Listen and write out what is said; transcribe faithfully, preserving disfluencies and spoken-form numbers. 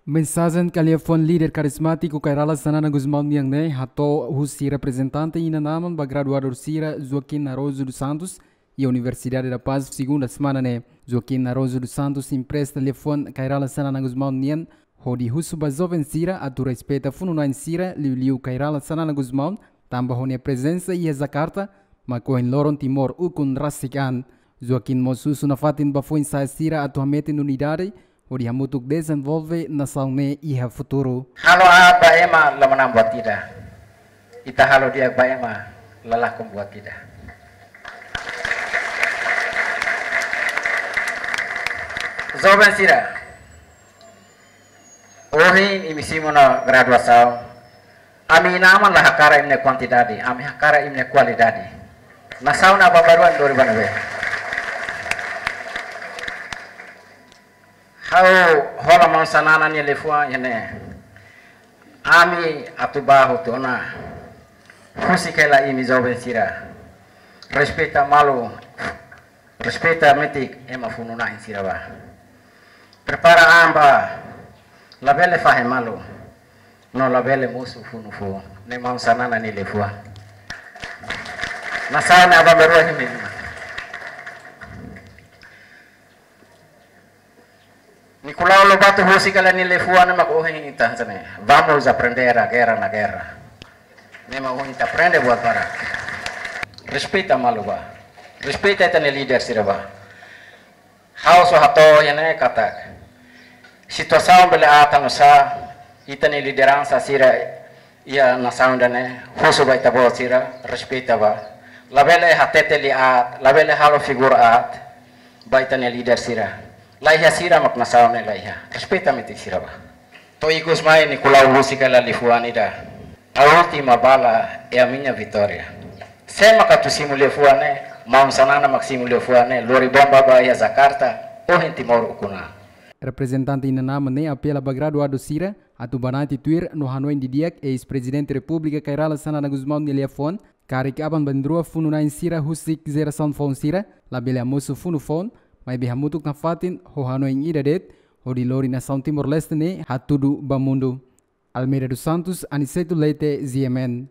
Mensajen ka liafuan líder karizmátiku Kay Rala Xanana Gusmão nian ne'e hato'o husi reprezentante inan-aman ba graduadu sira Joaquim Naroso dos Santos iha Universidade da Paz, segunda semana ne'e. Joaquim Naroso dos Santos empresta liafuan Kay Rala Xanana Gusmão nian hodi husu ba joven sira atu respeita funu-na'in sira, liuliu Kay Rala Xanana Gusmão, tanba ho nia prezensa iha Jakarta mak ohin loron Timor ukun rasik an. Joaquim mós husu nafatin ba foin-sa'e sira atu hametin unidade hodi hamutuk dezenvolve nasaun ne'e iha futuru. Halo aat ba ema la manán buat ida. Ita halo di'ak ba ema la lakon buat ida. Joven sira, ohin imi simu ona graduasaun. Ami inan-aman la hakarak imi-nia kuantidade, ami hakarak imi-nia kualidade. Nasaun ne'e aban-bainrua lori ba ne'ebé? Ha'u hola maun Xanana nia liafuan iha ne'e. Ami atu bá hotu ona. Husik hela imi joven sira. Respeita malu. Respeita metik ema funu-na'in sira bá. Prepara an bá. Labele fahe malu. No labele mosu funu foun. Ne'e maun Xanana nia liafuan. Nasaun ne'e aban-bainrua imi. Nicolau Lobato husik hela nia liafuan ne'e mak ohin ita hanesan ne'e. Vamos aprender a guerra na guerra. Ne'e mak ohin ita aprende buat barak. Respeita malu bá. Respeita ita-nia líder sira bá. Ha'u só hato'o iha ne'e katak situasaun bele aat nu'usá, ita-nia lideransa sira iha nasaun ida-ne'e, husu ba ita-boot sira, respeita bá. Labele hatete liafuan aat, labele halo figura aat ba ita-nia líder sira. La iha sira mak nasaun ne'e la iha. Respeita metik sira bá. To'o ikus mai Nicolau husik hela liafuan ida. A última bala é a minha vitória. Sé mak atu simu liafuan ne'e, maun Xanana mak simu liafuan ne'e, lori bomba bá iha Jakarta, ohin Timor ukun an. Reprezentante inan-aman ne'e apela ba graduadu sira atu banati tuir no hanoin didi'ak eis-Prezidente Repúblika Kay Rala Xanana Gusmão nia liafuan, karik aban-bainrua funu-na'in sira husik jerasaun foun sira, labele hamosu funu foun, maibé hamutuk nafatin ho hanoin ida de'it, hodi lori nasaun Timor-Leste ne'e hatudu ba mundu. Almeida dos Santos, Aniceto Leite, G M N.